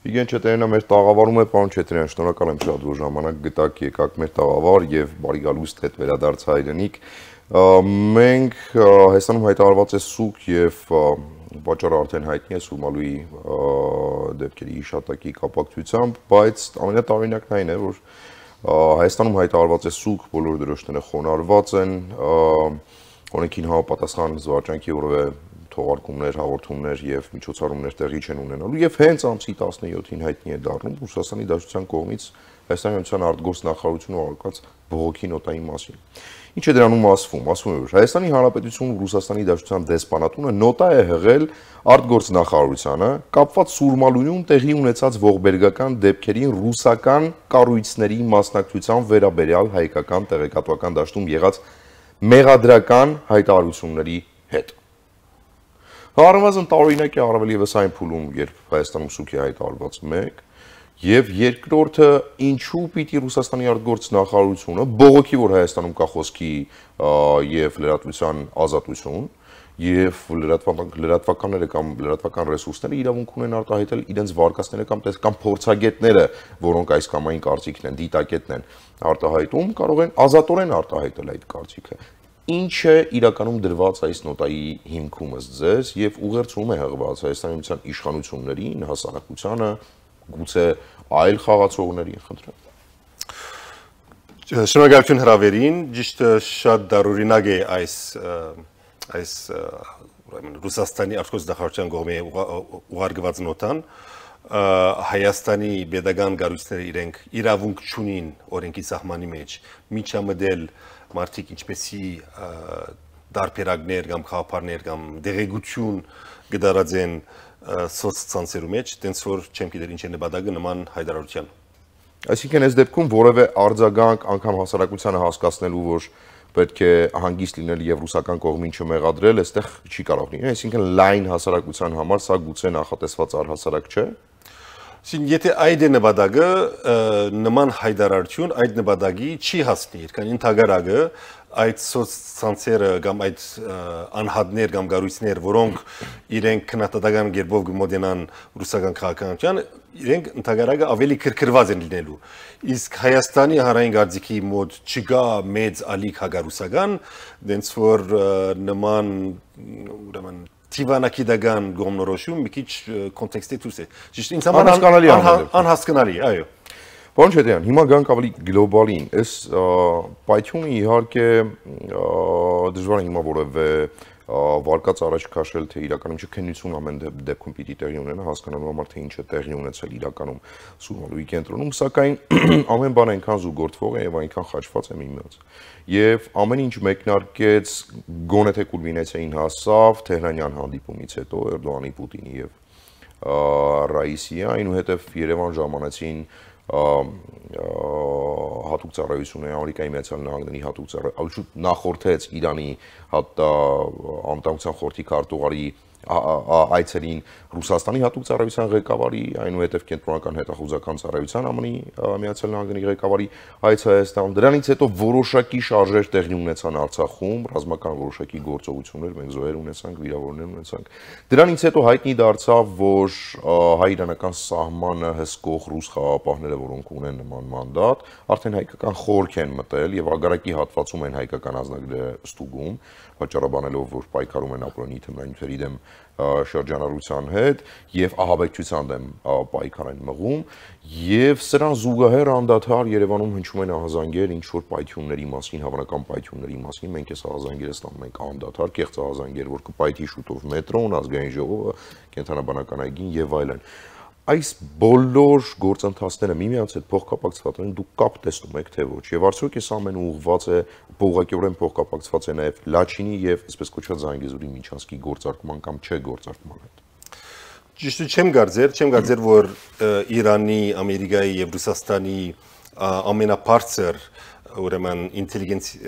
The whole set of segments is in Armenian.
Իգեն Չետրյանը մեր տաղավարում է, պարոն Չետրյան, շնորհակալ եմ շատ, որ ժամանակ գտաք, եկաք մեր տաղավար եւ բարի գալուստ հետ վերադարձ հայրենիք։ Մենք Հայաստանում հայտարարված է սուկ եւ պատճառը արդեն հայտնի է Սուրմալուի դեպքերի հիշատակի կապակցությամբ, բայց ամենատարօրինակն այն է, որ Հայաստանում հայտարարված է սուկ, բոլոր դրոշները խոնարհված են, օրենքին համապատասխան զվարճանքի որևէ թողարկումներ, հաղորդումներ եւ միջոցառումներ տեղի չեն ունենալու եւ հենց ամսի 17-ին հայտնի է դառնում Ռուսաստանի Դաշնության կողմից Հայաստանի Հանրապետության արտգործ նախարարությունը ուղարկած բողոքի նոտայի մասին։ Ինչ է դրանում ասվում։ Ասվում է, որ Հայաստանի Հանրապետությունում Ռուսաստանի Դաշնության դեսպանատունը նոտա է հղել արտգործ նախարարությանը կապված Սուրմալույում տեղի ունեցած ողբերգական դեպքերին ռուսական կառույցների մասնակցության վերաբերյալ հայկական տեղեկատվական դաշտում եղած մեղադրական հայտարարությունների հետ։ Առնվազն տարօրինակ է առավել եւս այն փուլում, երբ Հայաստանում սուկ է հայտարարված մեկ, եւ երկրորդը ինչու պիտի Ռուսաստանի արտգործ նախարարությունը բողոքի, որ Հայաստանում կա խոսքի եւ լրատվության ազատություն, եւ լրատվականները կամ լրատվական ռեսուրսները իրավունք ունեն արտահայտել իրենց վարկածները կամ փորձագետները, որոնք այս կամ այն կարծիքն են, դիտակետն են արտահայտում, կարող են ազատորեն արտահայտել այդ կարծիքը։ Ինչ է իրականում դրված այս նոտայի հիմքումս ձեզ եւ ուղերձում է հղված Հայաստանի Հանրապետության իշխանություններին, հասարակությանը, գուցե այլ խաղացողներին, խնդրեմ։ Շնորհակալություն հրավերին, ճիշտ շատ դարօրինակ է այս Ռուսաստանի արտգործ նախարարության կողմից ուղարկված նոտան։ Հայաստանի pedagogan կառույցները իրենք իրավունք չունին օրենքի սահմանի մեջ միջամտել մարդիկ ինչպեսի դարբերակներ կամ խաղապարներ կամ դեղեցություն գդարած են սոցցանցերու մեջ, տենց որ չեմ գիտեր ինչ է նպատակը նման հայտարարության։ Այսինքն այս դեպքում որևէ արձագանք անգամ հասարակությանը հասկացնելու, որ պետք է հանգիստ լինել եւ ռուսական կողմին չմեղադրել, այստեղ չի կարող լինել, այսինքն լայն հասարակության համար սա գուցե նախատեսված առհասարակ չէ։ Եթե այդ է նպատակը, նման հայտարարություն այդ նպատակի չի հասնի, քան ընդհանրակը այդ սոցցանցերը կամ այդ անհատներ կամ կառույցներ, որոնք իրենք քննադատական կերպով կմոտենան ռուսական քաղաքականությանը, իրենք ընդհանրակը ավելի քրքրված են լինելու։ Իսկ Հայաստանի հանրային գործիքի մոտ չկա մեծ ալիք հագարուսական, դենց որ նման ուրեմն Տիվանակիդական գոմնորոշում մի քիչ կոնտեքստի դուրս է։ Ճիշտ ինձ համար անհասկանալի, այո։ Պարոն Չետրյան, հիմա գանք ավելի գլոբալին։ Այս պայթյունը իհարկե դժվար է հիմա որևէ վարկած առաջ քաշել, թե իրականում չքննություն ամեն դեպքում պիտի տեղի ունենա, հասկանալու համար թե ինչ է տեղի ունեցել իրականում Սուրմալուի կենտրոնում, սակայն ամեն բան այնքան զուգորդվող է եւ այնքան խաչված է միմյանց։ Եվ ամեն ինչ մեկնարկեց գոնե թե կուլմինացիային հասավ Թեհրանյան հանդիպումից հետո Էրդողանի, Պուտինի եւ Ռաիսիի, այնուհետև Երևան ժամանեցին հատուկ ծառայությունը Ամերիկայի Միացյալ Նահանգների հատուկ ծառայությունը նախորդեց Իրանի անվտանգության խորհրդի քարտուղարի այցելին Ռուսաստանի հատուկ ծառայության ղեկավարի, այնուհետև կենտրոնական հետախուզական ծառայության ԱՄՆ-ի Միացյալ Նահանգների ղեկավարի այցը Հայաստան։ Դրանից հետո որոշակի շարժեր տեղի ունեցան Արցախում, ռազմական որոշակի գործողություններ, մենք զոհեր ունեցանք, վիրավորներ ունեցանք։ Դրանից հետո հայտնի դարձավ, որ հայ-իրանական սահմանը հսկող ռուս խաղաղապահները, որոնք ունեն նման մանդատ, արդեն հայկական խորք են մտել եւ ագարակի հատվածում են հայկական ազնագրերը ստուգում, պատճառաբանելով, որ պայքարում են ապրանքի թմրանյութերի դեմ շրջանառության հետ եւ ահաբեկչության դեմ պայքար են մղում եւ սրան զուգահեռ անդադար Երևանում հնչում են ահազանգեր ինչ որ պայթյունների մասին, հավանական պայթյունների մասին, մենք այս ահազանգերը ստանում ենք անդադար, կեղծ ահազանգեր, որ կպայթի շուտով մետրոն, ազգային ժողովը, կենտրոնաբանական այգին եւ այլն։ Այս բոլոր գործընթացները միմյանց հետ փոխկապակցված են, դուք կապ տեսնում եք թե ոչ, եւ արդյոք այս ամենը ուղղված է փոխակիորեն փոխկապակցված է նաեւ Լաչինի եւ այսպես կոչված Զանգեզուրի Միչանսկի գործարկման կամ չէ գործարկման հետ։ Ճիշտ չեմ կարծեր, որ Իրանի, Ամերիկայի եւ Ռուսաստանի ամենաբարձր ուրեմն ինտելիգենցի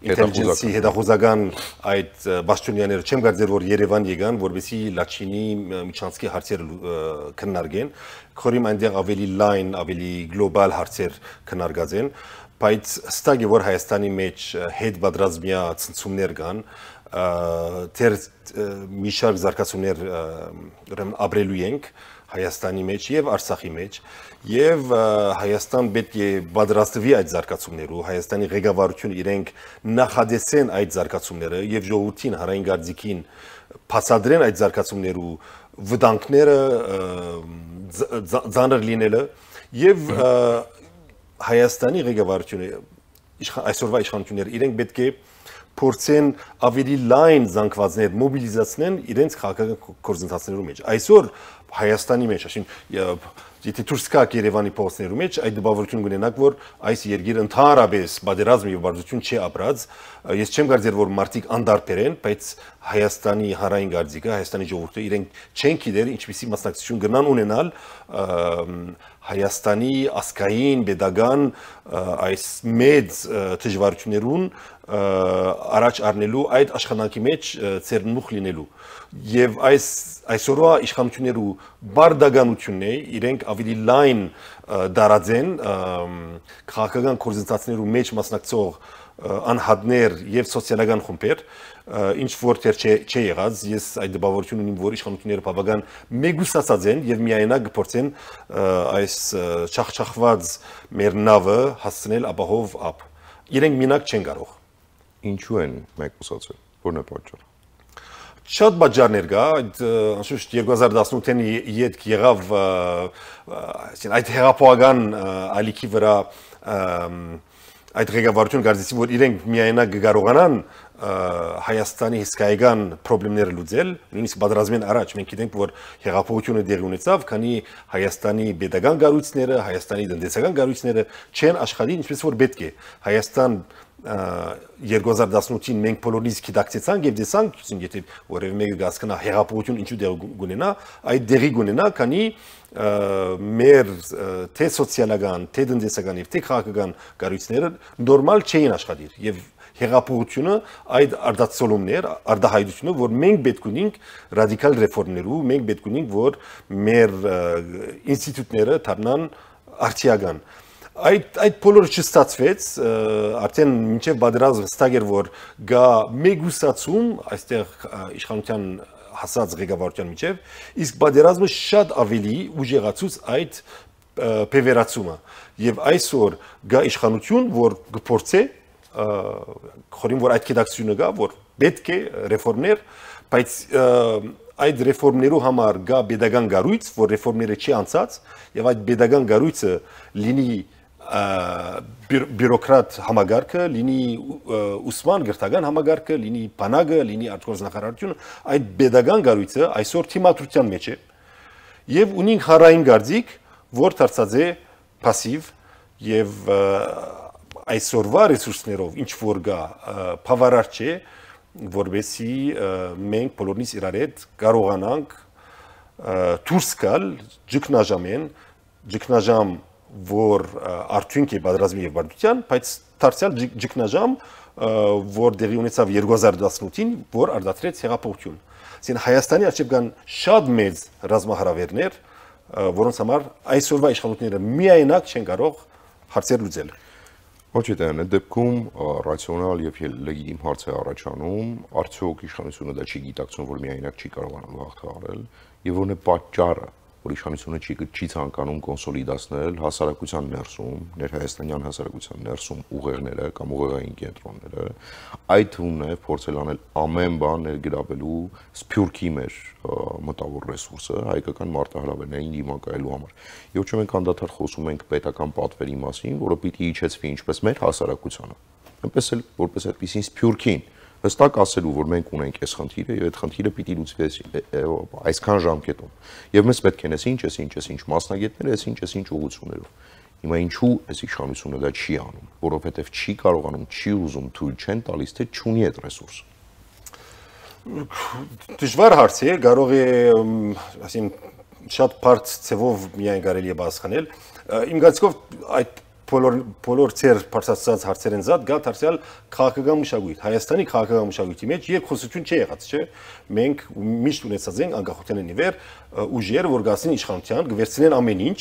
հետախուզական այդ բաշխոնյաները չեմ կարծեր, որ Երևան եկան, որովհետեւ Լաչինի Միչանսկի հարցերը քննարկեն, քորիմ այնտեղ ավելի լայն, ավելի գլոբալ հարցեր քննարկած են, բայց հստակ է, որ Հայաստանի մեջ հետ պատրաստմյա ցնցումներ կան, թեր մի շարք զարգացումներ ուրեմն ապրելու ենք Հայաստանի մեջ եւ Արցախի մեջ եւ Հայաստան պետք է պատրաստվի այդ զարգացումներու Հայաստանի ղեկավարությունը իրենք նախադեսեն այդ զարգացումները եւ ժողովրդին հանրային գարձիկին բացատրեն այդ զարգացումներու վտանգները ծանր լինելը եւ Հայաստանի ղեկավարությունը այսօրվա իշխանությունները իրենք պետք է փորձեն ավելի լայն զանգվածներ մոբիլիզացնեն իրենց քաղաքական գործընթացներու մեջ այսօր Հայաստանի մեջ այսինքն եթե դուրս գաք Երևանի փողոցներու մեջ այդ դպավորություն կունենաք որ այս երկիրը ընդհանրապես բادرազմ եւ բարձություն չի ապրած ես չեմ կարծեր որ մարդիկ անդարբեր են բայց Հայաստանի հանրային գարձիկը Հայաստանի ժողովուրդը իրենք չեն գիտեր ինչպիսի մասնակցություն կնան ունենալ Հայաստանի ասկային pedagogan այս մեծ դժվարություններուն առաջ առնելու այդ աշխատանքի մեջ ծերնուխ լինելու եւ այսօրվա իշխանություններու բարդականությունն է իրենք ավելի լայն դարաձեն քաղաքական կորզընթացներու մեջ մասնակցող անհատներ եւ սոցիալական խմբեր ինչ որտեղ չի եղած ես այդ դպավորություն ունիմ որ իշխանությունները բավական մեգուսացած են եւ միայնակ փորձեն այս չախչախված մեր նավը հասցնել ապահով ապ իրենք մինակ չեն կարող ինչու են մեգուսացել որն է պատճառը Շատ բաժարներ կա, անշուշտ 2018-ին յետք եղավ այդ հեղափոխական ալիքի վրա այդ ղեկավարությունը կարծեցին որ իրենք միայնակ կարողանան Հայաստանի հսկայական խնդիրները լուծել, նույնիսկ պատերազմին առաջ մենք գիտենք որ հեղափոխությունը դեղի ունեցավ, քանի Հայաստանի pedagogan գարույցները, Հայաստանի տնտեսական գարույցները չեն աշխատի ինչպես որ պետք է։ Հայաստան 2018-ին մենք բոլորից գիտակցեցանք եւ դեսանք, եթե որևէ մեկը գասկնա հեղափոխություն ինչու դեղ գունենա, այդ դեղի գունենա, քանի մեր թե սոցիալական, թե տնտեսական եւ թե քաղաքական գարույցները նորմալ չէին աշխատիր եւ հեղափոխությունը այդ արտացոլումներ, արտահայտությունը, որ մենք պետք ունենք ռադիկալ ռեֆորմներու, մենք պետք ունենք որ մեր ինստիտուտները դառնան արդիական Այդ բոլորը չստացվեց, արդեն մինչև պատերազմ հստակ էր որ գա մեգուսացում այստեղ իշխանության հասած ղեկավարության միջև, իսկ պատերազմը շատ ավելի ուժեղացուց այդ բևերացումը եւ այսօր գա իշխանություն, որ գործե խորին որ այդ գիտակցությունը գա, որ պետք է ռեֆորմներ, բայց այդ ռեֆորմներու համար գա pedagogan գարույց, որ ռեֆորմները չի անցած եւ այդ pedagogan գարույցը լինի բյուրոկրատ համագարկը, լինի ուսման գրթական համագարկը, լինի բանակը, լինի արտգործնախարարությունը, այդ pedagogan գարույցը այսօր թիմադրության մեջ է եւ ունենք հանրային գարձիկ, որ դարձած է пассив եւ այսօրվա ռեսուրսներով ինչ որ գա բավարար չէ որբեսի մենք բոլորնից իրար հետ կարողանանք դուրս գալ ճգնաժամ որ արդյունք է պատերազմի եւ բարդության, բայց դարձյալ ճգնաժամ որ դեղի ունեցավ 2018-ին, որ արտադրեց հեղափոխություն։ Այսինքն Հայաստանի արժեվ կան շատ մեծ ռազմահարավերներ, որոնց համար այսօրվա իշխանությունները միայնակ չեն կարող հարցեր լուծել։ Ոչ այդ դեպքում ռացիոնալ եւ լեգիտիմ հարց է առաջանում, արդյոք իշխանությունը դա չի գիտակցում, որ միայնակ չի կարողանում հաղթահարել, եւ որն է պատճառը, որ իշխանությունը չի ցանկանում կոնսոլիդացնել հասարակության ներսում, ներհայաստանյան հասարակության ներսում ուղեղները կամ ուղեղային կենտրոնները, այդ թվում է փորձել անել ամեն բան ներգրավելու սփյուռքի մեր մտավոր ռեսուրսը հայկական մարտահրավերներին դիմակայելու համար։ Եվ ոչ մենք անդադար խոսում ենք պետական պատվերի մասին, որը պիտի իջեցվի ինչպես մեր հասարակությանը, այնպես էլ որպես այդպիսին սփյուռքին հստակ ասելու, որ մենք ունենք այս խնդիրը եւ այդ խնդիրը պիտի լուծվի այսքան ժամկետում։ Եվ մեզ պետք են ինչ մասնագետներ, ինչ ուղղություններով։ Հիմա ինչու այս իշխանությունը դա չի անում, որովհետեւ չի կարողանում, չի ուզում, թույլ չեն տալիս, թե չունի այդ ռեսուրսը։ Դժվար հարց է, կարող է, ասենք շատ բարդ ցևով միայն կարելի է բացանել։ Իմ գացկով այդ բոլոր ծեր բարձրացած հարցերեն զատ գա դարձյալ քաղաքական մշակույթ Հայաստանի քաղաքական մշակույթի մեջ երկխոսություն չի եղած, չէ՞։ Մենք միշտ ունեցած ենք անկախության նիվեր ուժեր, որ գասին իշխանության, գվերցնեն ամեն ինչ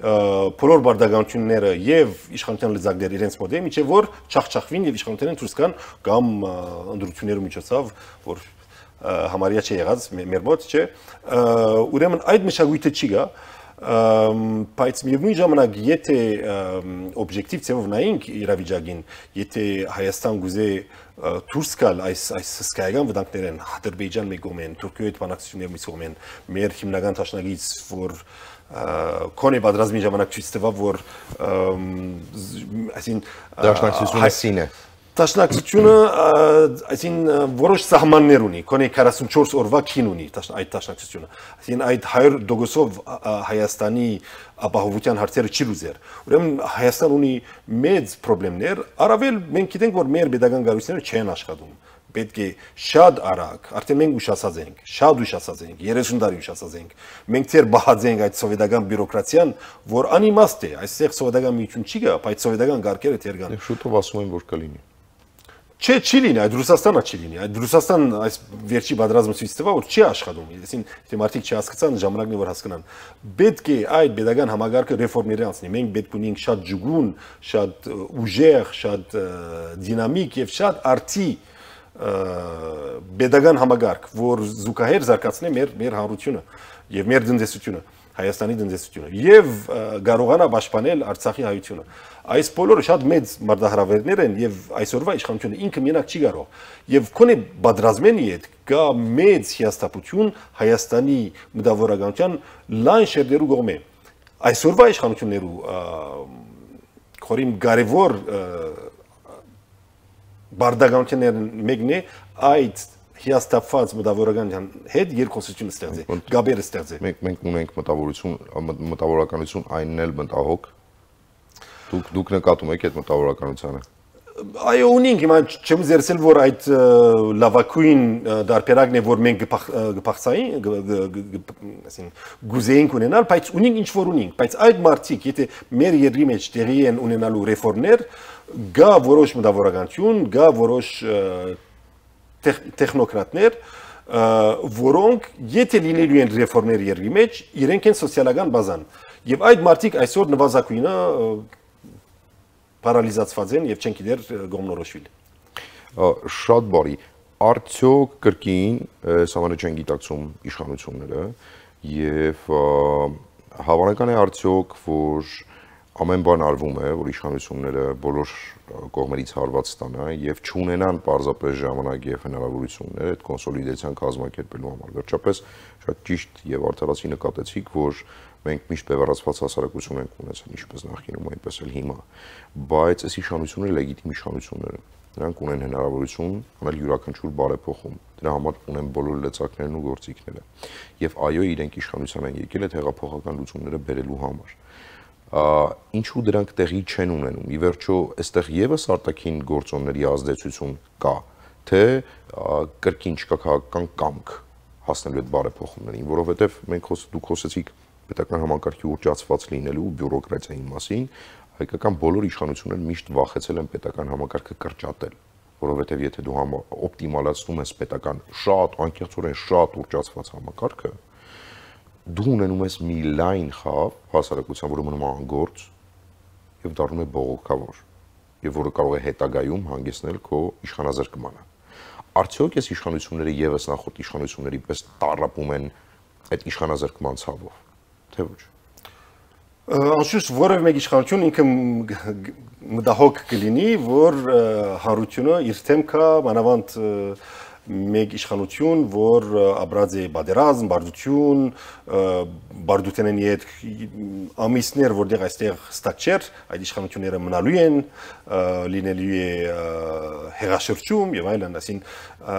բոլոր բարդականությունները եւ իշխանության լծակները իրենց մոտ են, միջև որ չախչախվին եւ իշխանությունները դուրս գան կամ ընդրություններու միջոցով, որ համարյա չի եղած մեր մոտ, չէ։ Ուրեմն այդ մշակույթը չի գա, բայց միևնույն ժամանակ եթե օբյեկտիվ ձևով նայենք իրավիճակին, եթե Հայաստան գուզե դուրս գալ այս հսկայական վտանգներեն, Ադրբեջան մի կողմեն, Թուրքիայի հետ բանակցություններ մի կողմեն, մեր հիմնական դաշնակից, որ Կոնե պատրաստի ժամանակ ցույց տվավ, որ այսին դաշնակցությունը սին է։ Դաշնակցությունը այսին որոշ սահմաններ ունի, կոնե 44 օրվա քին ունի այդ դաշնակցությունը։ Այսին այդ 100%-ով Հայաստանի ապահովության հարցերը չի լուծեր։ Ուրեմն Հայաստան ունի մեծ խնդիրներ, առավել մենք գիտենք, որ մեր pedagogan գարույցները չեն աշխատում։ Պետք է շատ արագ, արդեն մենք ուշացած ենք, շատ ուշացած ենք, 30 տարի ուշացած ենք։ Մենք դեռ բախած ենք այդ սովետական բյուրոկրատիան, որ անիմաստ է, այստեղ սովետական միություն չի գա, բայց սովետական գարկերը դեռ կան։ Շուտով ասում են, որ կլինի։ Չէ, չի լինի, այդ Ռուսաստանը չի լինի։ Այդ Ռուսաստան այս վերջի պատերազմը ցույց տվա, որ չի աշխատում։ Այսին թե մարդիկ չհասկացան, ժամանակն է որ հասկանան։ Պետք է այդ pedagogan համագարկը ռեֆորմների անցնի։ Մենք պետք ունենք շատ ջուգուն, շատ ուժեղ, շատ դինամիկ եւ շատ արդի pedagogan համագարկ, որ զուգահեռ զարգացնի մեր հանրությունը եւ մեր տնտեսությունը, Հայաստանի տնտեսությունը եւ կարողանա պաշտպանել Արցախի հայությունը։ Այս բոլորը շատ մեծ մարտահրավերներ են եւ այսօրվա իշխանությունը ինքը միանակ չի կարող։ Եվ քոնե պատրաստմենի հետ կա մեծ հիաստապություն Հայաստանի մտավորականության լայն շերտերու կողմէ։ Այսօրվա իշխանություններու խորին կարևոր բարդականություններն մեկն է այդ հիաստապված մտավորականության հետ երկխոսություն ստեղծի, գաբերը ստեղծի։ Մենք ունենք մտավորականություն այնն էլ մտահոգ։ Դուք նկատում եք այդ մտավորականությանը։ Այո, ունենք, հիմա չեմ զերծել, որ այդ լավակույն դարբերակն է, որ մենք գփախցային, այսին գուզեինք ունենալ, բայց ունենք ինչ որ ունենք, բայց այդ մարդիկ, եթե մեր երկրի մեջ տեղի են ունենալու ռեֆորմներ, գա որոշ մտավորականություն, գա որոշ տեխնոկրատներ, որոնք եթե լինելու են ռեֆորմներ երկրի մեջ, իրենք են սոցիալական բազան։ Եվ այդ մարդիկ այսօր նվազագույնը պարալիզացված են եւ չեն գիտեր գոմնորոշվել։ Շատ բարի։ Արդյոք կրկին սամանը չեն գիտակցում իշխանությունները եւ հավանական է արդյոք, որ ամեն բան արվում է, որ իշխանությունները բոլոր կողմերից հարված ստանա եւ չունենան պարզապես ժամանակ եւ հնարավորություններ այդ կոնսոլիդացիան կազմակերպելու համար։ Վերջապես շատ ճիշտ եւ արդարացի նկատեցիք, որ մենք միշտ բևեռացված հասարակություն ենք ունեցել, ինչպես նախկինում, այնպես էլ հիմա, բայց այս իշխանությունները լեգիտիմ իշխանություններ են։ Նրանք ունեն հնարավորություն անել յուրաքանչյուր բարեփոխում։ Դրա համար ունեն բոլոր լծակներն ու գործիքները։ Եվ այո, իրենք իշխանության են եկել այդ հեղափոխական լուծումները բերելու համար։ Ինչու դրանք տեղի չեն ունենում։ Ի վերջո, այստեղ եւս արտաքին գործոնների ազդեցություն կա, թե կրկին չկա քաղաքական կամք հասնելու այդ բարեփոխումներին, որովհետեւ դուք խոսեցիք պետական համակարգի ուռճացված լինելու բյուրոկրատիայի մասին, հայկական բոլոր իշխանությունները միշտ վախեցել են պետական համակարգը կրճատել, որովհետև եթե դու օպտիմալացնում ես պետական շատ անկեղծորեն շատ ուռճացված համակարգը, դու ունենում ես մի լայն խավ հասարակության, որը մնում է անգործ եւ դառնում է բողոքավոր, եւ որը կարող է հետագայում հանգեցնել քո իշխանազրկմանը։ Արդյոք այս իշխանությունները եւս նախորդ իշխանությունների պես տառապում են այդ իշխանազրկման ցավով, թե ոչ։ Անշուշտ որևէ մեկ իշխանություն ինքը մտահոգ կլինի, որ հարությունը իր թեմ կա, մանավանդ մեկ իշխանություն, որ ապրած է բادرազմ, բարդություն, բարդութենեն հետ ամիսներ, որտեղ այստեղ ստակ չէր, այդ իշխանությունները մնալու են, լինելու է հեղաշրջում եւ այլն, այսին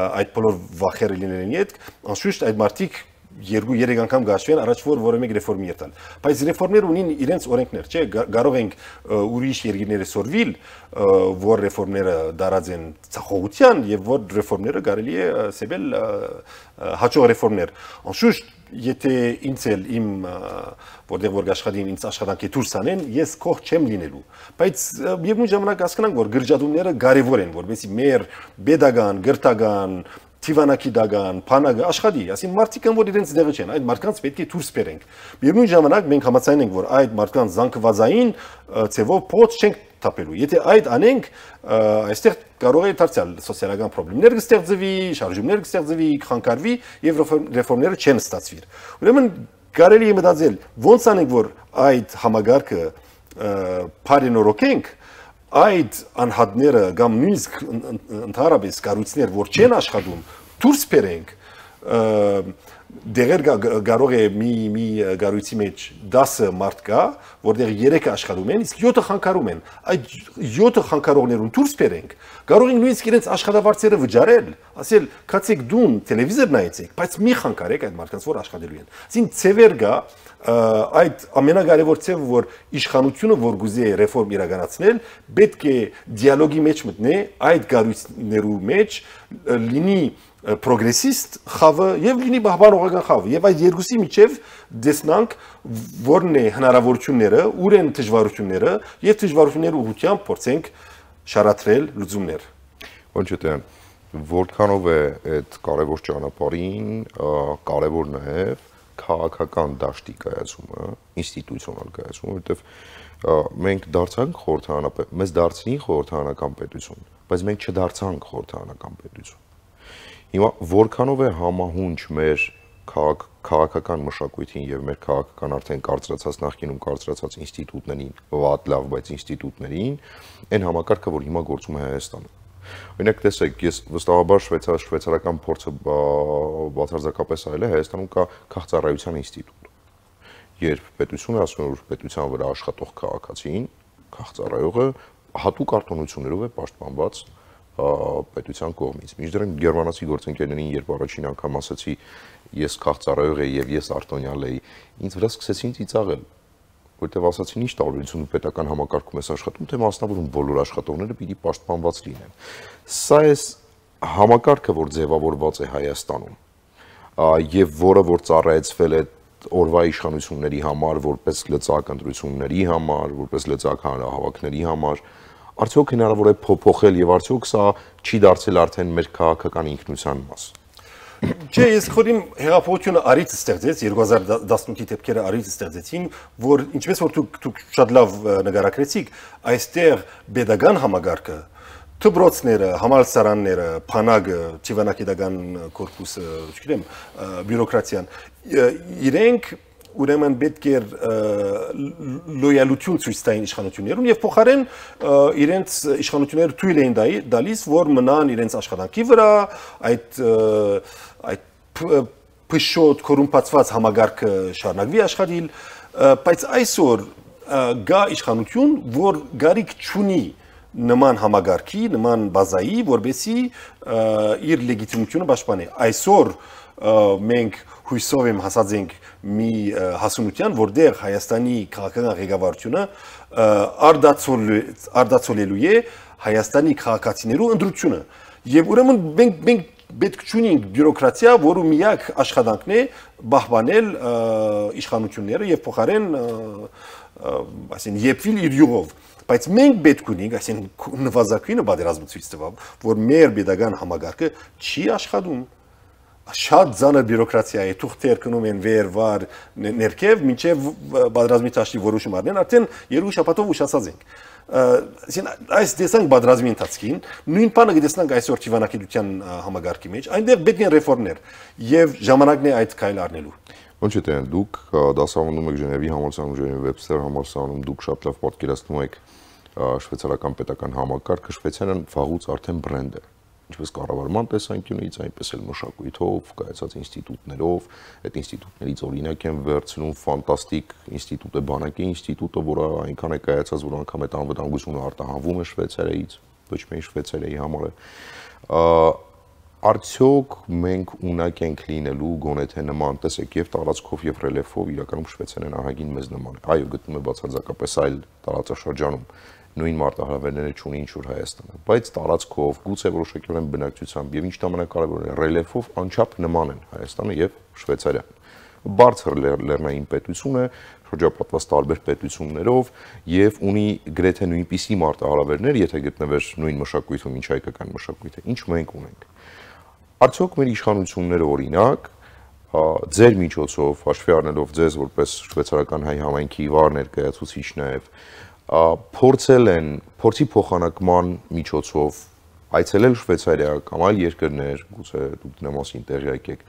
այդ բոլոր վախերը լինելու են հետ, անշուշտ այդ մարդիկ 2-3 անգամ գաշվեն առաջ որ որը մեկ ռեֆորմի երթալ։ Բայց ռեֆորմներ ունին իրենց օրենքներ, չէ՞, կարող ենք ուրիշ երկրները սորվիլ, որ ռեֆորմները դարած են ցախողության եւ որ ռեֆորմները կարելի է սեբել հաջող ռեֆորմներ։ Անշուշտ, եթե ինձ էլ իմ որտեղ որ աշխատին ինձ աշխատանքի դուրս անեն, ես կող չեմ լինելու։ Բայց միևնույն ժամանակ հասկանանք, որ գրժադումները կարևոր են, որովհետեւ մեր pedagogan, գրթական Թիվանակի դագան, փանագը աշխատի, ասին մարդիկ են որ իրենց դեղը չեն, այդ մարդկանց պետք է դուրս բերենք։ Միևնույն ժամանակ մենք համաձայն ենք որ այդ մարդկանց զանգվածային ցևով փոց չենք թափելու։ Եթե այդ անենք, այստեղ կարող է դարձյալ սոցիալական խնդիրներ կստեղծվի, շարժումներ կստեղծվի, կխանգարվի եւ ռեֆորմները չեն ստացվի։ Ուրեմն կարելի է մտածել ոնց անենք որ այդ համագարկը բարենորոգենք այդ անհատները կամ նույնիսկ ընդհանրապես կառույցներ որ չեն աշխատում դուրս բերենք դեղեր կարող է մի գարույցի մեջ 10 մարդ կա, որտեղ 3-ը աշխատում են, իսկ 7-ը խանգարում են։ Այդ 7-ը խանգարողներուն դուրս բերենք, կարող ենք նույնիսկ իրենց աշխատավարձերը վճարել, ասել, «Կացեք դուն տելևիզոր նայեցեք, բայց մի խանգարեք այդ մարդկանց, որ աշխատելու են»։ Այսին ցևեր գա այդ ամենակարևոր ցևը, որ իշխանությունը որ գուզե ռեֆորմ իրականացնել, պետք է դիալոգի մեջ մտնի այդ գարույցներու մեջ լինի պրոգրեսիստ խավը եւ լինի բահբանողական խավը եւ այդ երկուսի միջև դեսնանք որն է հնարավորությունները, ուր են դժվարությունները եւ դժվարությունների ուղղությամբ փորձենք շարադրել լուծումներ։ Ոնց է որքանով է այդ կարևոր ճանապարհին կարևոր նաեւ քաղաքական դաշտի կայացումը, ինստիտուցիոնալ կայացումը, որովհետեւ մենք դարձանք խորհրդարանապետ, մեզ դարձնի խորհրդարանական պետություն, բայց մենք չդարձանք խորհրդարանական պետություն։ Հիմա որքանով է համահունչ մեր քաղաքական մշակույթին եւ մեր քաղաքական արդեն կարծրացած նախկինում կարծրացած ինստիտուտներին, վատ լավ, բայց ինստիտուտներին, այն համակարգը, որ հիմա գործում է Հայաստանում։ Օրինակ տեսեք, ես վստահաբար շվեյցարական փորձը բացարձակապես այլ է, Հայաստանում կա քաղաքծառայության ինստիտուտ։ Երբ պետությունը ասում է, որ պետության վրա աշխատող քաղաքացին, քաղաքծառայողը հատուկ արտոնություններով է պաշտպանված պետության կողմից։ Մինչդեռ գերմանացի գործընկերներին, երբ առաջին անգամ ասացի, ես քաղաքծառայող եի եւ ես արտոնյալ էի, ինձ վրա սկսեցին ծիծաղել, որտեղ ասացին, ինչ տարբերություն պետական համակարգում ես աշխատում, թե մասնավորում բոլոր աշխատողները պիտի պաշտպանված լինեն։ Սա է համակարգը, որ ձևավորված է Հայաստանում, եւ որը որ ծառայեցվել է օրվա իշխանությունների համար, որպես լծակ ընտրությունների համար, որպես լծակ հանրահավաքների համար, արդյոք հնարավոր է փոփոխել եւ արդյոք սա չի դարձել արդեն մեր քաղաքական ինքնության մաս։ Չէ, ես խորին հեղափոխությունը արից ստեղծեց 2018-ի դեպքերը արից ստեղծեցին, որ ինչպես որ դուք շատ լավ նկարագրեցիք, այստեղ pedagogan համագարկը, դպրոցները, համալսարանները, փանագը, ճիվանակիդական կորպուսը, չգիտեմ, բյուրոկրատիան, իրենք ուրեմն պետք է լոյալություն ցույց տային իշխանություններուն եւ փոխարեն իրենց իշխանությունները թույլ էին տալիս, որ մնան իրենց աշխատանքի վրա, այդ փշոտ կորումպացված համագարկը շարունակվի աշխատել, բայց այսօր գա իշխանություն, որ գարիք չունի նման համագարկի, նման բազայի, որբեսի իր լեգիտիմությունը պաշտպանի։ Այսօր մենք հույսով եմ հասած ենք մի հասունության, որտեղ Հայաստանի քաղաքական ղեկավարությունը արդացոլելու է Հայաստանի քաղաքացիներու ընտրությունը։ Եվ ուրեմն մենք պետք չունենք բյուրոկրատիա, որը միակ աշխատանքն է պահպանել իշխանությունները եւ փոխարեն այսին եփիլ իր յուղով։ Բայց մենք պետք ունենք, այսին նվազագույնը պատերազմը ցույց տվավ, որ մեր pedagogan համագարկը չի աշխատում։ Շատ ծանր բյուրոկրատիա է, թուղթեր կնում են վեր-վար ներքև, մինչև պատերազմի ճաշտի որոշում առնեն, արդեն երկու շաբաթով ուշացած ենք։ Այս տեսանք պատերազմի ընթացքին, նույն բանը կտեսնանք այսօր ճիվանակիդության համագարկի մեջ, այնտեղ պետք են ռեֆորմներ եւ ժամանակն է այդ քայլ առնելու։ Ոնց է դուք դասավանդում եք Ժնևի համալսարանում, Ժնևի Վեբստեր համալսարանում, դուք շատ լավ պատկերացնում եք շվեյցարական պետական համակարգը, Շվեյցարիան վաղուց արդեն բրենդ է։ Ինչպես կառավարման տեսանկյունից, այնպես էլ մշակույթով, կայացած ինստիտուտներով, այդ ինստիտուտներից օրինակ են վերցնում ֆանտաստիկ ինստիտուտ է, բանակի ինստիտուտը, որը այնքան է կայացած, որ անգամ այդ անվտանգությունը արտահանվում է Շվեյցարիայից, ոչ միայն Շվեյցարիայի համար է։ Արդյոք մենք ունակ ենք լինելու գոնե թե նման, տեսեք, եւ տարածքով եւ ռելիեֆով իրականում Շվեյցարիան ահագին մեզ նման է։ Այո, գտնում է բացարձակապես այլ տարածաշրջանում նույն մարտահրավերները չունի ինչ որ Հայաստանը, բայց տարածքով, գուցե որոշակիորեն բնակչությամբ եւ ինչ ամենակարևորն է, ռելիեֆով անչափ նման են Հայաստանը եւ Շվեյցարիան։ Բարձր լեռնային պետություն է, շրջապատված տարբեր պետություններով եւ ունի գրեթե նույնպիսի մարտահրավերներ, եթե գտնվեր նույն մշակույթում, ինչ հայկական մշակույթը, ինչ մենք ունենք։ Արդյոք մեր իշխանությունները օրինակ ձեր միջոցով հաշվի առնելով ձեզ որպես շվեյցարական հայ համայնքի վար ներկայացուցիչ նաև փորձել են փորձի փոխանակման միջոցով այցելել Շվեյցարիա կամ այլ երկրներ, գուցե դուք դրա մասին տեղյակ եք,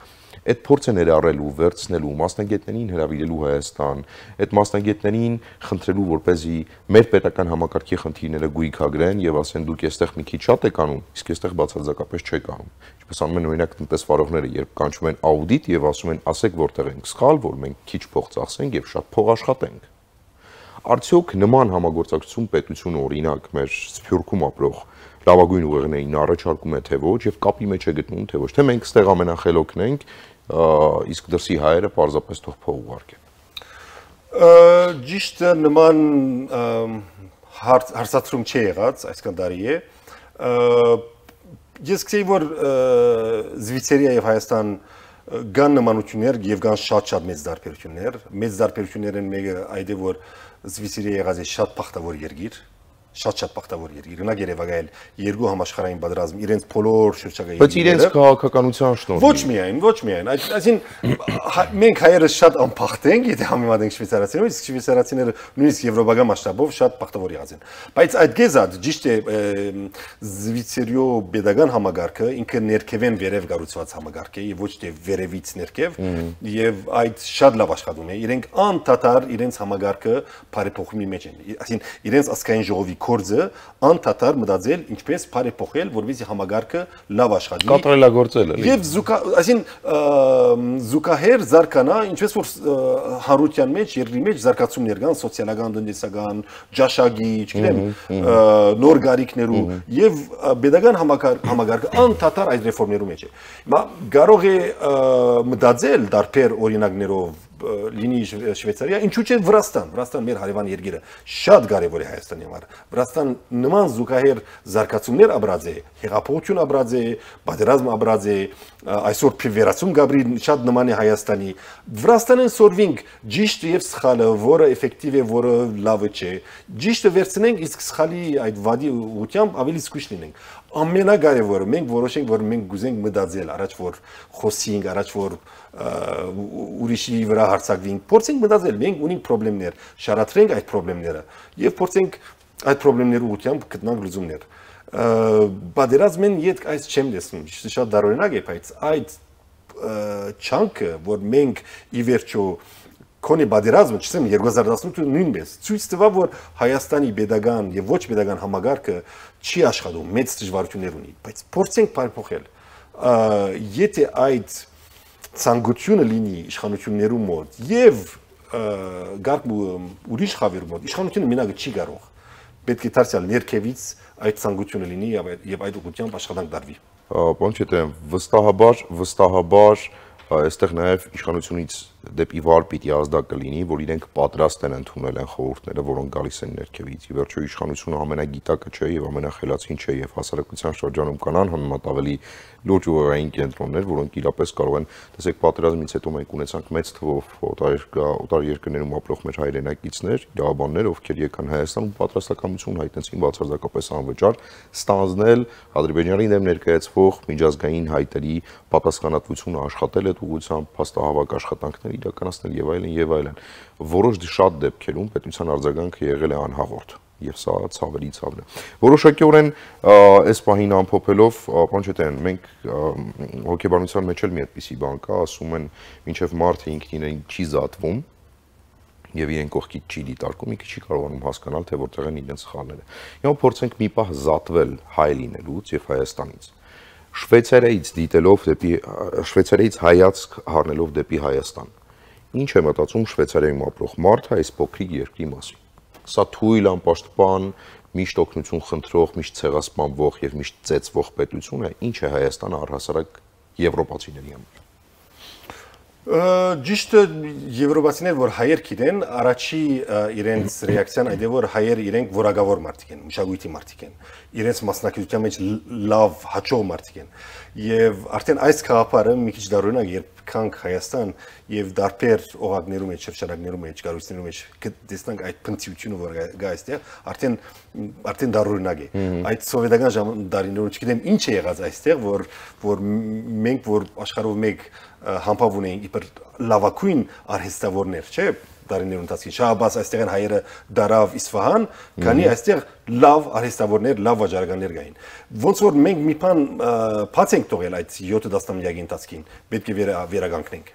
այդ փորձը ներառելու, վերցնելու, մասնագետներին հրավիրելու Հայաստան, այդ մասնագետներին խնդրելու, որպեսզի մեր պետական համակարգի խնդիրները գույքագրեն եւ ասեն դուք այստեղ մի քիչ շատ եք անում, իսկ այստեղ բացարձակապես չեք անում։ Ինչպես անում են օրինակ տնտեսվարողները, երբ կանչում են աուդիտ եւ ասում են ասեք որտեղ ենք սխալ, որ մենք քիչ փող ծախսենք եւ շատ փող աշխատենք։ Արդյոք նման համագործակցություն պետությունը օրինակ մեր Սփյուռքում ապրող լավագույն ուղեղներին առաջարկում է թե ոչ եւ կապի մեջ է գտնում թե ոչ, թե մենք ստեղ ամենախելոքն ենք, իսկ դրսի հայերը պարզապես թող փող ուղարկեն։ Ճիշտ նման հարցադրում չի եղած, այսքան տարի է։ Ես գիտեի, որ Զվիցերիա եւ Հայաստան կան նմանություններ եւ կան շատ մեծ դարբերություններ։ Մեծ դարբերություններն մեկը այդ է, որ Զվիցերիա եղած է շատ բախտավոր երկիր, շատ բախտավոր երկիր։ Ունակ Երևանայել երկու համաշխարհային պատերազմ իրենց բոլոր շրջակա Բայց իրենց քաղաքականության շնորհիվ։ Ոչ միայն, այսինքն մենք հայերը շատ անփախտ ենք, եթե համեմատենք շվեյցարացիներով, իսկ շվեյցարացիները նույնիսկ եվրոպական մասշտաբով շատ բախտավոր եղած են։ Բայց այդ գեզած ճիշտ է Զվիցերիո pedagogan համագարքը ինքը ներքևեն վերև կառուցված համագարք է եւ ոչ թե վերևից ներքև եւ այդ շատ լավ աշխատում է։ Իրենք անդադար իրենց համագարքը բարեփոխումի մեջ են։ Այսինքն իրենց ասկային ժողովի կորձը անդադար մտածել ինչպես բարեփոխել, որովհետեւ համագարքը լավ աշխատի։ Կատարելագործել է։ Եվ այսինքն զուգահեռ զարգանա, ինչպես որ հարության մեջ, երկրի մեջ զարգացումներ կան, սոցիալական, տնտեսական, ճաշակի, չգիտեմ, նոր գարիքներու եւ pedagogan համագարքը անդադար այդ ռեֆորմներու մեջ է։ Հիմա կարող է մտածել դարբեր օրինակներով լինի Շվեյցարիա, ինչու՞ չէ Վրաստան մեր հարևան երկիրը շատ կարևոր է Հայաստանի համար։ Վրաստան նման զուգահեռ զարգացումներ ապրած է, հեղափոխություն ապրած է, պատերազմ ապրած է, այսօր փիվերացում գաբրի շատ նման է Հայաստանի։ Վրաստանն սորվինք ճիշտ եւ սխալը, որը էֆեկտիվ է, որը լավը չէ։ Ճիշտը վերցնենք, իսկ սխալի այդ վադի ուղությամբ ավելի զգույշ լինենք։ Ամենակարևորը մենք որոշենք, որ մենք գուզենք մտածել, առաջ որ խոսենք, առաջ որ ուրիշի վրա հարցակվենք, փորձենք մտածել, մենք ունենք խնդիրներ, շարադրենք այդ խնդիրները եւ փորձենք այդ խնդիրների ուղղությամբ գտնանք լուծումներ։ Պատերազմեն յետք այս չեմ տեսնում, շատ դարօրինակ է, բայց այդ չանքը, որ մենք ի վերջո Քոնի պատերազմը, չսեմ 2018 նույնպես ցույց տվավ, որ Հայաստանի pedagogan եւ ոչ pedagogan համագարքը չի աշխատում, մեծ դժվարություններ ունի, բայց փորձենք բարեփոխել։ Եթե այդ ցանկությունը լինի իշխանություններու մոտ եւ գարկ ուրիշ խավեր մոտ, իշխանությունը մենակ չի կարող։ Պետք է դարձյալ ներքևից այդ ցանկությունը լինի եւ այդ ուղղությամբ աշխատանք դարվի։ Պարոն Չետրյան, վստահաբար այստեղ նաև իշխանությունից դեպի վար պիտի ազդակ կլինի, որ իրենք պատրաստ են ընդունել են խորհուրդները, որոնք գալիս են ներքևից։ Ի վերջո իշխանությունը ամենագիտակը չէ եւ ամենախելացին չէ եւ հասարակության շրջանում կանան համեմատ ավելի լուրջ ուղեղային կենտրոններ, որոնք իրապես կարող են, տեսեք, պատերազմից հետո մենք ունեցանք մեծ թվով օտար երկրներում ապրող մեր հայրենակիցներ, իրավաբաններ, ովքեր եկան Հայաստան ու պատրաստակամություն հայտնեցին բացարձակապես անվճար ստանձնել Ադրբեջանի դեմ ներկայացվող միջազգային հայտերի պատասխանատվությունը աշխատել այդ ուղղությամբ, փաստահավաք աշխատանքներ իրականացնել եւ այլն։ Որոշ շատ դեպքերում պետության արձագանքը եղել է անհաղորդ եւ սա ցավերի ցավն է։ Որոշակիորեն այս պահին ամփոփելով, պարոն Չետրյան, մենք հոգեբանության մեջ էլ մի այդպիսի բան կա, ասում են մինչեւ մարդը ինքնին չի զատվում եւ իրեն կողքից չի դիտարկում, ինքը չի կարողանում հասկանալ, թե որտեղ են իրենց սխալները։ Հիմա փորձենք մի պահ զատվել հայ լինելուց եւ Հայաստանից։ Շվեյցարիայից դիտելով դեպի Շվեյցարիայից հայացք առնելով դեպի Հայաստան։ Ինչ է մտածում Շվեյցարիայում ապրող մարդը այս փոքրիկ երկրի մասին։ Սա թույլ անպաշտպան, միշտ օգնություն խնդրող, միշտ ցեղասպանվող եւ միշտ ծեծվող պետություն է, ինչ է Հայաստանը առհասարակ եվրոպացիների համար։ Ճիշտ եվրոպացիներ, որ հայեր գիտեն, առաջի իրենց ռեակցիան այդ է, որ հայեր իրենք որակավոր մարդիկ են, մշակույթի մարդիկ են, իրենց մասնակցության մեջ լավ հաջող մարդիկ են։ Եվ արդեն այս գաղափարը մի քիչ դարօրինակ, երբ քանք Հայաստան եւ դարբեր օղակներում մեջ, շրջանակներում մեջ, կառույցներում մեջ տեսնանք այդ փնտրությունը, որ գա այստեղ, արդեն դարօրինակ է։ Այդ սովետական դարիներում չգիտեմ ինչ է եղած այստեղ, որ մենք որ աշխարհով մեկ համբավ ունեինք իբր լավագույն արհեստավորներ, չէ՞։ Դարիներ ընթացքի Շահաբաս այստեղ են հայերը դարավ Իսֆահան, քանի այստեղ լավ արհեստավորներ, լավ վաճառականներ կային։ Ոնց որ մենք մի բան բաց ենք տողել այդ 7 տասնամյակի ընթացքին, պետք է վերականգնենք։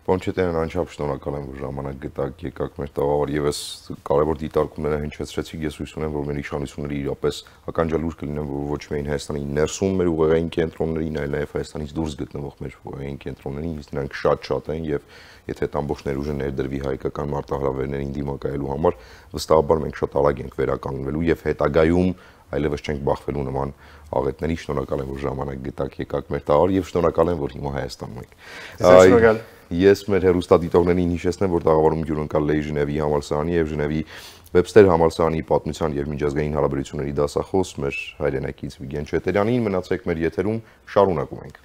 Պոնչետյանն անչափ շնորհակալ եմ, որ ժամանակ գտաք, եկաք մեր տաղավար եւ այս կարևոր դիտարկումները հնչեցրեցիք։ Ես հույս ունեմ, որ մեր իշխանությունները իրապես ականջալուր կլինեն, որ ոչ միայն Հայաստանի ներսում մեր ուղեղային կենտրոններին, այլ նաեւ Հայաստանից դուրս գտնվող մեր ուղեղային կենտրոններին, իսկ նրանք շատ են եւ եթե այդ ամբողջ ներուժը ներդրվի հայկական մարտահրավերներին դիմակայելու համար, վստահաբար մենք շատ արագ ենք վերականգնվելու եւ հետագայում այլևս չենք բախվելու նման աղետների։ Շնորհակալ եմ, որ ժամանակ գտաք, եկաք մեր տաղավար եւ շնորհակալ եմ, որ հիմա Հայաստանում եք։ Շնորհակալ։ Ես մեր հեռուստադիտողներին հիշեցնեմ, որ տաղավարում յուրընկալ էի Ժնևի համալսարանի եւ Ժնևի Վեբստեր համալսարանի պատմության եւ միջազգային հարաբերությունների դասախոս մեր հայրենակից Վիգեն Չետերյանին։ Մնացեք մեր եթերում, շարունակում ենք։